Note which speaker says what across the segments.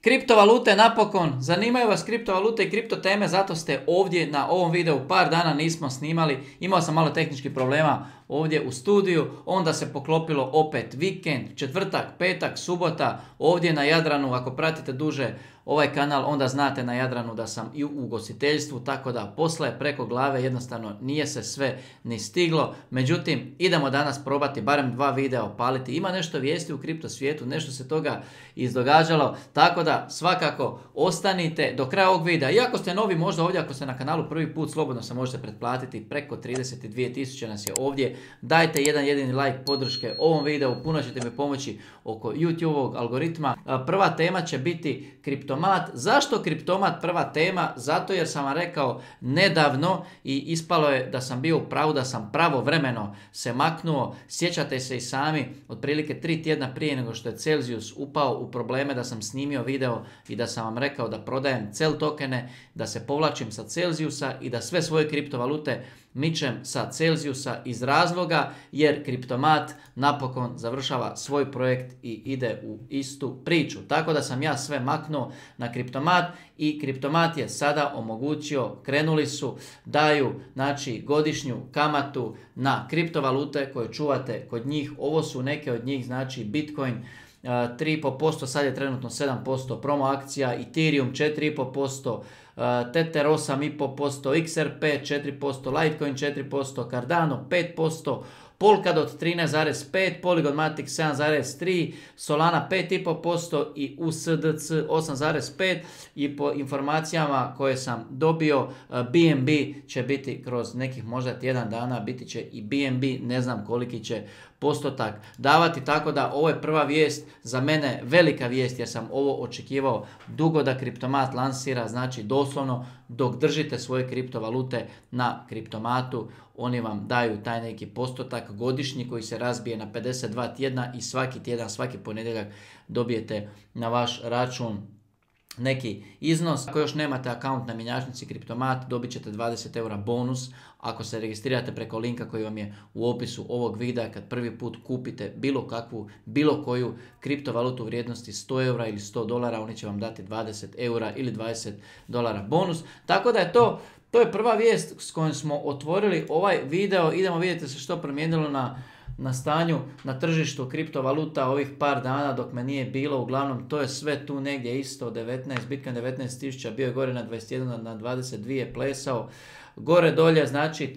Speaker 1: Kriptovalute napokon, zanimaju vas kriptovalute i kripto teme, zato ste ovdje na ovom videu. Par dana nismo snimali, imao sam malo tehničkih problema ovdje u studiju, onda se poklopilo opet vikend, četvrtak, petak, subota, ovdje na Jadranu. Ako pratite duže ovaj kanal, onda znate na Jadranu da sam i u ugostiteljstvu, tako da posla je preko glave, jednostavno nije se sve ni stiglo. Međutim, idemo danas probati barem 2 videa opaliti. Ima nešto vijesti u kripto svijetu, nešto se toga izdogađalo, tako da svakako ostanite do kraja ovog videa. Iako ste novi možda ovdje, ako ste na kanalu prvi put, slobodno se možete pretplatiti, preko 32.000 nas je ovdje. Dajte jedan jedini like podrške ovom videu, puno ćete mi pomoći oko YouTube-ovog algoritma. Prva tema će biti kriptomat. Zašto kriptomat prva tema? Zato jer sam vam rekao nedavno i ispalo je da sam bio u pravu, da sam pravovremeno se maknuo. Sjećate se i sami, otprilike 3 tjedna prije nego što je Celsius upao u probleme, da sam snimio video i da sam vam rekao da prodajem Cel tokene, da se povlačim sa Celsiusa i da sve svoje kriptovalute mičem sa Celsiusa iz razloga jer kriptomat napokon završava svoj projekt i ide u istu priču. Tako da sam ja sve maknuo na kriptomat i kriptomat je sada omogućio, krenuli su, daju znači godišnju kamatu na kriptovalute koje čuvate kod njih. Ovo su neke od njih, znači Bitcoin 3,5%, sad je trenutno 7% promo akcija, Ethereum 4,5%, Tether 8,5%, XRP 4%, Litecoin 4%, Cardano 5%, Polkadot 13,5%, Polygon Matic 7,3%, Solana 5,5% i USDC 8,5%. I po informacijama koje sam dobio, BNB će biti kroz nekih možda tjedan dana, biti će i BNB, ne znam koliki će postotak davati, tako da ovo je prva vijest, za mene velika vijest jer sam ovo očekivao dugo da kriptomat lansira, znači doslovno dok držite svoje kriptovalute na kriptomatu, oni vam daju taj neki postotak godišnji koji se razbije na 52 tjedna i svaki tjedan, svaki ponedjeljak dobijete na vaš račun neki iznos. Ako još nemate akaunt na mjenjačnici kriptomat, dobit ćete 20 eura bonus ako se registrirate preko linka koji vam je u opisu ovog videa. Kad prvi put kupite bilo koju kriptovalutu u vrijednosti 100 eura ili 100 dolara, oni će vam dati 20 eura ili 20 dolara bonus. Tako da je to je prva vijest s kojom smo otvorili ovaj video. Idemo vidjeti se što promijenilo na stanju na tržištu kriptovaluta ovih par dana dok me nije bilo. Uglavnom to je sve tu negdje isto, 19, Bitcoin 19.000, bio je gore na 21, na 22 plesao. Gore dolje, znači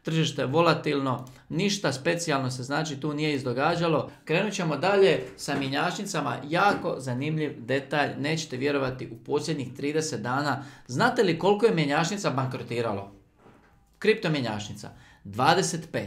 Speaker 1: tržište volatilno, ništa specijalno se znači tu nije izdogađalo. Krenut ćemo dalje sa mjenjačnicama, jako zanimljiv detalj, nećete vjerovati, u posljednjih 30 dana, znate li koliko je mjenjačnica bankrotiralo? Kripto mjenjačnica, 25.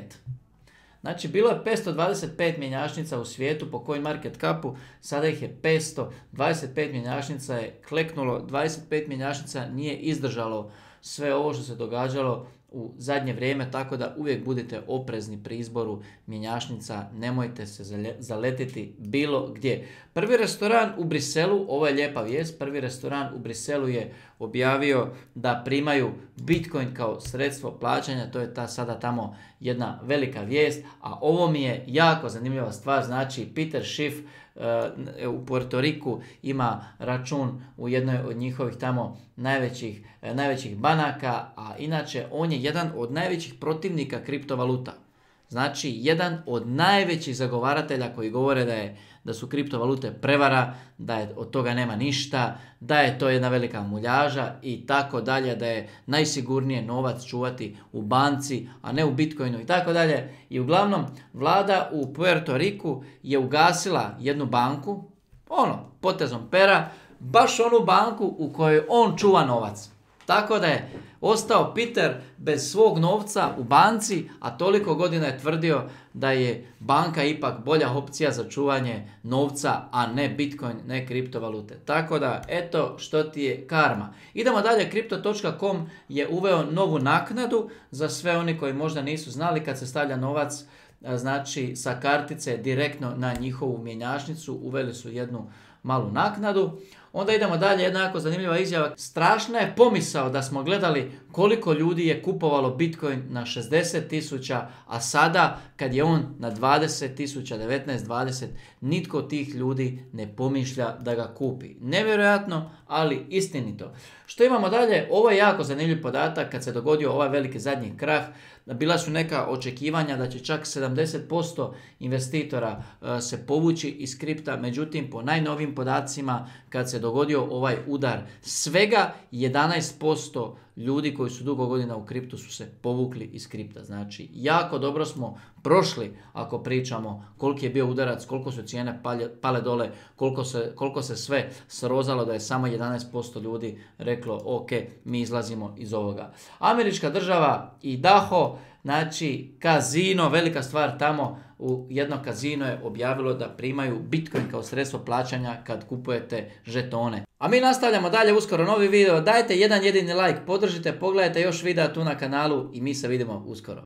Speaker 1: Znači bilo je 525 mjenjačnica u svijetu po CoinMarketCapu, sada ih je 500, 25 mjenjačnica je kleknulo, 25 mjenjačnica nije izdržalo sve ovo što se događalo u zadnje vrijeme, tako da uvijek budite oprezni pri izboru mjenjačnica, nemojte se zaletiti bilo gdje. Prvi restoran u Briselu, ovo je lijepa vijest, prvi restoran u Briselu je objavio da primaju Bitcoin kao sredstvo plaćanja, to je sada tamo jedna velika vijest, a ovo mi je jako zanimljiva stvar, znači Peter Schiff u Puerto Riku ima račun u jednoj od njihovih tamo najvećih banaka, a inače on je jedan od najvećih protivnika kriptovaluta. Znači jedan od najvećih zagovaratelja koji govore da su kriptovalute prevara, da od toga nema ništa, da je to jedna velika muljaža i tako dalje, da je najsigurnije novac čuvati u banci, a ne u Bitcoinu i tako dalje. I uglavnom vlada u Puerto Riku je ugasila jednu banku, potezom pera, baš onu banku u kojoj on čuva novac. Tako da je ostao Peter bez svog novca u banci, a toliko godina je tvrdio da je banka ipak bolja opcija za čuvanje novca, a ne Bitcoin, ne kriptovalute. Tako da, eto što ti je karma. Idemo dalje, Crypto.com je uveo novu naknadu za sve oni koji možda nisu znali, kad se stavlja novac znači sa kartice direktno na njihovu mjenjačnicu, uveli su jednu malu naknadu. Onda idemo dalje, jedna jako zanimljiva izjava. Strašna je pomisao da smo gledali koliko ljudi je kupovalo Bitcoin na 60.000, a sada kad je on na 20.000, 19, 20, nitko od tih ljudi ne pomišlja da ga kupi. Nevjerojatno, ali istinito. Što imamo dalje? Ovo je jako zanimljiv podatak kad se dogodio ovaj veliki zadnji krah. Bila su neka očekivanja da će čak 70% investitora se povući iz kripta, međutim po najnovim podacima kad se dogodio ovaj udar, svega 11% ljudi koji su dugo godina u kriptu su se povukli iz kripta. Znači, jako dobro smo prošli ako pričamo koliki je bio udarac, koliko su cijene pale dole, koliko se sve srozalo da je samo 11% ljudi reklo ok, mi izlazimo iz ovoga. Američka država Idaho, znači kazino, velika stvar tamo, u jedno kazino je objavilo da primaju Bitcoin kao sredstvo plaćanja kad kupujete žetone. A mi nastavljamo dalje, uskoro novi video, dajte jedan jedini like, podržite, pogledajte još videa tu na kanalu i mi se vidimo uskoro.